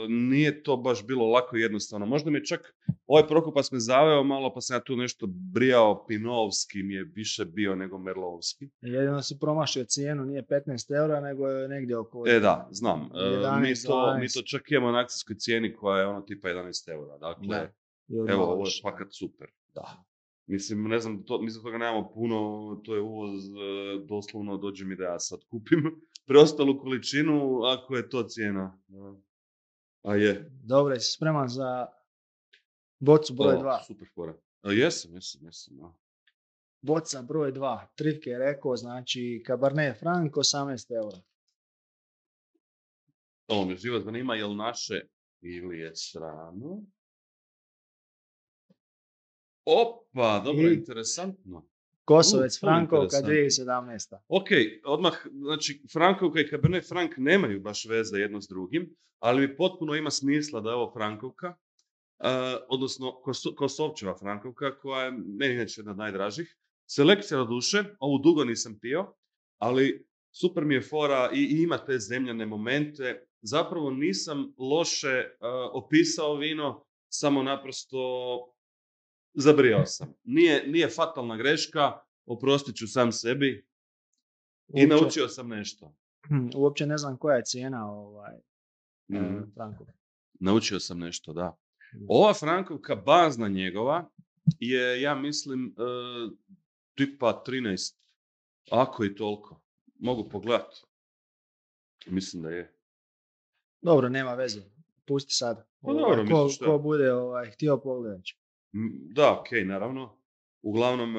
nije to baš bilo lako i jednostavno. Možda mi je čak ovaj Prokupac me zaveo malo, pa sam ja tu nešto brijao, Pinovski mi je više bio nego Merlovski. Jedino si promašio cijenu, nije 15 eura, nego je negdje oko Da, znam. 11, Mi to čak imamo na akcijskoj cijeni koja je ono tipa 11 eura. Dakle, Da. Ili evo, malo ovo je više. fakat super. Da. Mislim, ne znam, mislim toga nemamo puno, to je uvoz, doslovno dođe mi da ja sad kupim preostalu količinu, ako je to cijena. A je. Dobro, jesi spreman za bocu broj 2? Super fora. Jesam. Da. Boca broj 2. Trifke je rekao, znači Cabernet Franc 18 eura. Ovo me živo zanima, je li naše ili je strano? Opa, dobro, interesantno. Kosovec Frankovka interesantno. 2017. Ok, odmah, znači Frankovka i Cabernet Franc nemaju baš veze jedno s drugim, ali mi potpuno ima smisla da je ovo Frankovka, odnosno Kosovčeva Frankovka, koja je meni inače jedna od najdražih. Selekcija do duše, ovu dugo nisam pio, ali super mi je fora i ima te zemljane momente. Zapravo nisam loše opisao vino, samo naprosto zabrijao sam. Nije fatalna greška, oprostit ću sam sebi i naučio sam nešto. Uopće ne znam koja je cijena Frankovka. Naučio sam nešto, da. Ova Frankovka, bazna njegova, je, ja mislim, tipa 13. Ako i toliko. Mogu pogledati. Mislim da je. Dobro, nema veze. Pusti sad. Pa dobro, misliš ko bude htio pogledat će. Da, okej, naravno. Uglavnom,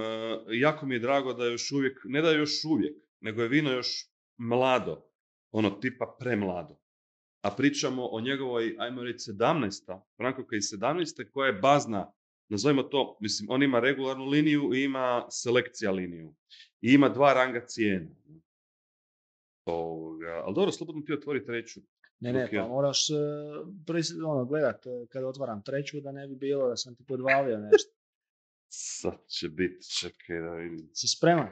jako mi je drago da je još uvijek, ne da je još uvijek, nego je vino još mlado. Ono, tipa premlado. A pričamo o njegovoj, ajmo reći, 17. Frankovka iz 17. koja je bazna, nazovimo to, mislim, on ima regularnu liniju i ima selekcija liniju. I ima 2 ranga cijena. Ali dobro, slobodno ti otvori treću. Ne, pa moraš gledat kada otvaram treću da ne bi bilo da sam ti podvalio nešto. Sad će biti, čekaj da vidim. Si spreman?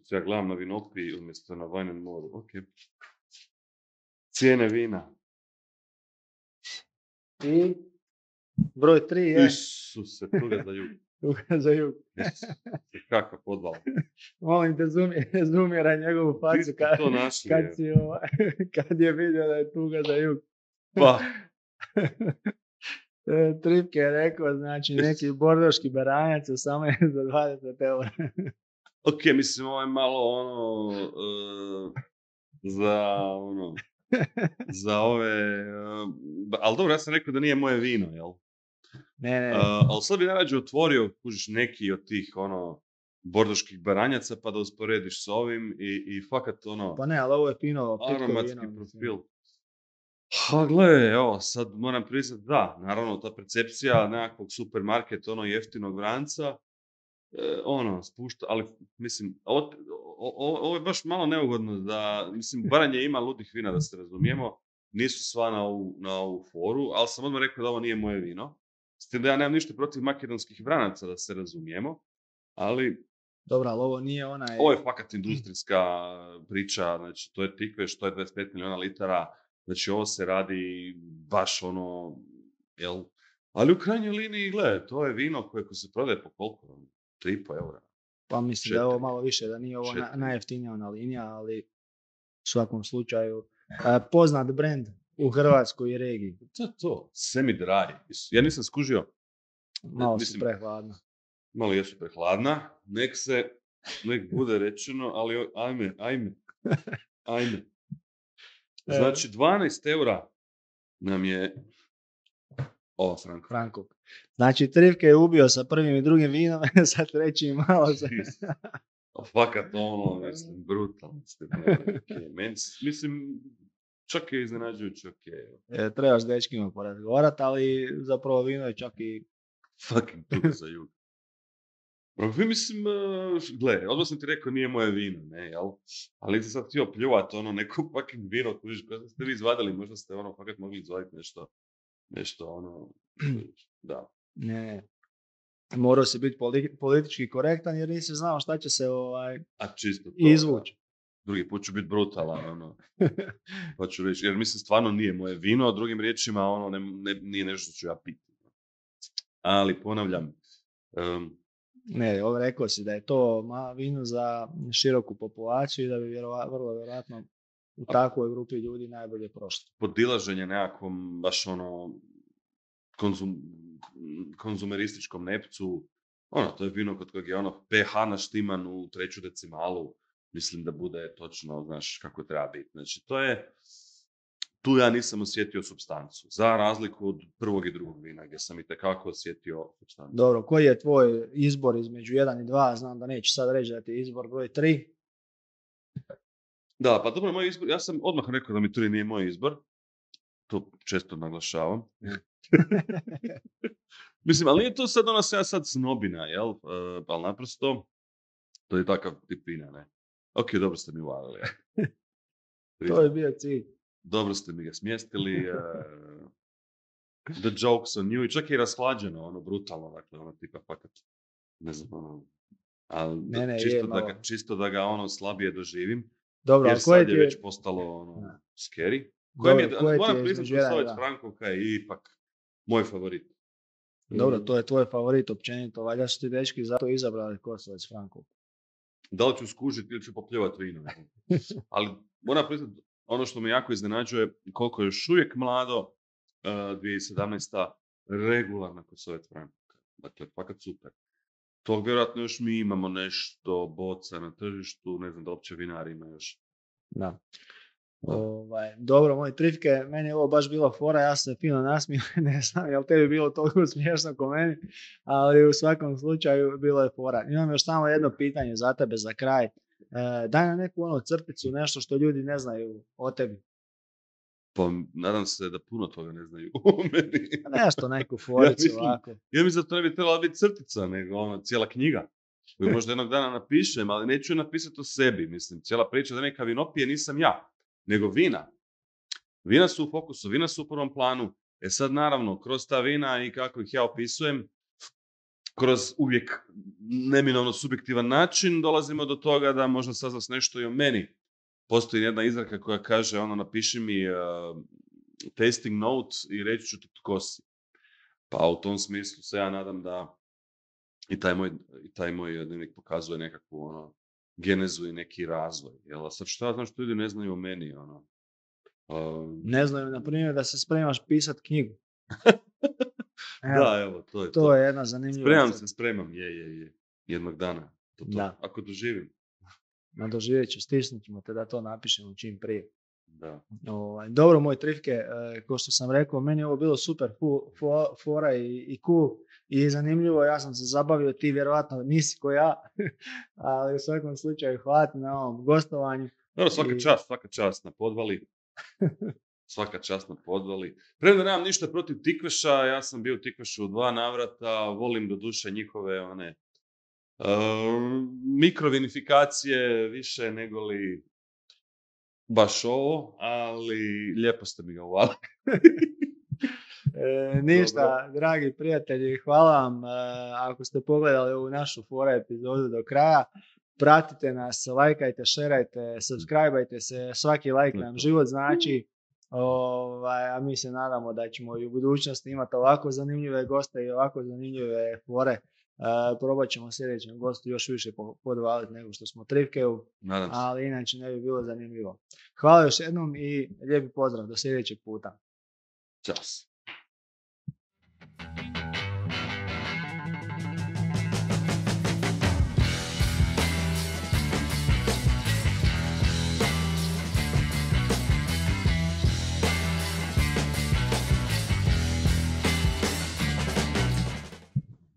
Ja gledam na Vinopiji umjesto na Wine and More. Ok. Cijene vina. I broj 3 je... Isuse, tuga za jug. Tuga za jug. Kakav podval. Molim te, zoomiraj njegovu facu kad je vidio da je tuga za jug. Pa. Tripke je rekao, znači neki bordoški baranjac 18 za 20 eura. Ok, mislim, ovo je malo za ove, ali dobro, ja sam rekao da nije moje vino, jel? Ne. Ali sad bi najrađe otvorio, kužiš, neki od tih, bordoških baranjaca, pa da usporediš s ovim i fakat, Pa ne, ali ovo je fino, aromatski profil. Ha, gle, evo, sad moram priznati, da, naravno, ta percepcija nekakvog supermarketa, jeftinog vranca, spušta, ali, mislim, ovo je baš malo neugodno da, mislim, Baranje ima ludih vina, da se razumijemo, nisu sva na ovu foru, ali sam odmah rekao da ovo nije moje vino. S tim da ja nemam ništa protiv makedonskih vranaca, da se razumijemo, ali... Dobro, ali ovo nije onaj... Ovo je fakat industrijska priča, znači, to je tikveš, to je 25 milijuna litara, znači, ovo se radi baš jel? Ali u krajnjoj liniji, gledaj, to je vino koje se prodaje po koliko? 3,5 eura. Pa mislim da je ovo malo više, da nije ovo najjeftinija ona linija, ali u svakom slučaju poznat brand u Hrvatskoj i regiji. To, semi-dry. Ja nisam skužio. Malo su prehladna. Malo jesu prehladna. Nek bude rečeno, ali ajme. Znači, 12 eura nam je ova Frankovka. Znači, Trifke je ubio sa prvim i drugim vinom, sa trećim malo se... Fakat mislim, brutalno. Mislim, čak je iznenađujući trebaš s dečkima porazgovarati, ali zapravo vino je čak i... Fucking tuga za jug. Mislim, gle, odmah sam ti rekao nije moje vino, ne, jel? Ali sam sad htio pljuvat neko fucking vino, kužiš, koje ste vi izvadili, možda ste fakat mogli izvaditi nešto, da. Ne, morao si biti politički korektan jer nisi znao šta će se čisto to, izvući. drugi put ću biti brutalan, ono. Pa ću reći, jer mislim, stvarno nije moje vino, a drugim riječima, ono, nije nešto što ću ja piti. Ali, ponavljam, Ne, ovo rekao si da je to vino za široku populaciju i da bi vrlo vjerojatno u takvoj grupi ljudi najbolje prošlo. Podilaženje nekakvom, baš ono, konzumerističkom nepcu, ono, to je vino kod kojeg je ono pH naštiman u 3. decimalu, mislim da bude točno, znaš, kako treba biti. Znači, tu ja nisam osjetio supstancu, za razliku od prvog i drugog vina, gdje sam itekako osjetio supstancu. Dobro, koji je tvoj izbor između 1 i 2? Znam da neću sad reći da ti je izbor broj 3. Da, pa dobro, moj izbor, ja sam odmah rekao da mi 3 nije moj izbor, to često naglašavam. Mislim, ali nije to sad ona sad snobina, jel? Ali naprosto, to je takav tip vina, ne? Ok, dobro ste mi uvalili. Ja. To je bio cilj. Dobro ste mi ga smjestili. The jokes on you. I čak je i rashlađeno, ono, brutalno, dakle, ono, tipa, fakat, ne znam, ono, ali čisto da ga, ono, slabije doživim. Dobro, jer sad je već postalo, ono, scary. Moram priznati, Kosovac Frankovka je ipak moj favorit. Dobro, to je tvoj favorit općenito, valjda su ti dečki zato izabrali Kosovac Frankovku. Da li ću skužiti ili ću popljuvati vino. Ali moram priznati, ono što me jako iznenađuje, koliko je još uvijek mlado, 2017. regularna Kosovac Frankovka. Dakle, fakat super. Tog vjerojatno još mi imamo nešto boca na tržištu, ne znam da uopće vinari ima još. Da. Dobro, moji trifke, meni je ovo baš bilo fora, ja sam se fino nasmio, ne znam jel tebi bilo toliko smiješno ko meni, ali u svakom slučaju bilo je fora. Imam još samo jedno pitanje za tebe za kraj. Daj nam neku ono crticu, nešto što ljudi ne znaju o tebi. Pa nadam se da puno toga ne znaju o meni. Nešto, neku foricu ovako. Ja mislim da to ne bi trebala biti crtica, nego ono, cijela knjiga. Koju možda jednog dana napišem, ali neću napisati o sebi. Mislim, cijela priča da neka vinopije nisam ja, nego vina. Vina su u fokusu, vina su u prvom planu. Sad naravno, kroz ta vina i kako ih ja opisujem, kroz uvijek neminovno subjektivan način dolazimo do toga da možda saznaš nešto i o meni. Postoji jedna izreka koja kaže, ono, napiši mi tasting note i reći ću ti tko si. Pa u tom smislu se ja nadam da i taj moj dnevnik pokazuje nekakvu ono, genezu i neki razvoj. Jel, sad što ja znam što ljudi ne znaju o meni? Ono? Ne znaju, na primjer, da se spremaš pisat knjigu. Da, evo, to je to. Je jedna zanimljiva. Spremam, je. Jednog dana. To. Da. Ako doživim. Doživjet ću, stisnut ćemo te da to napišemo čim prije. Da. Dobro, moje trifke, kao što sam rekao, meni je ovo bilo super fora i cool i zanimljivo, ja sam se zabavio, ti vjerovatno nisi ko ja, ali u svakom slučaju hvala na ovom gostovanju. Dobro, svaka čast na podvali. Svaka čast na podvali. Premda nemam ništa protiv Tikveša, ja sam bio u Tikvešu u 2 navrata, volim do duše njihove one mikrovinifikacije više nego li baš ovo, ali lijepo ste mi ga uvali. Ništa, Dobro. Dragi prijatelji, hvala vam ako ste pogledali ovu našu fora epizodu do kraja. Pratite nas, lajkajte, šerajte, subscribeajte se, svaki like nam život znači. A mi se nadamo da ćemo i u budućnosti imati ovako zanimljive goste i ovako zanimljive fore. Probat ćemo sljedećem gostu još više podvaliti nego što smo trifkeju, ali inače ne bi bilo zanimljivo. Hvala još jednom i lijepi pozdrav, do sljedećeg puta. Ćao.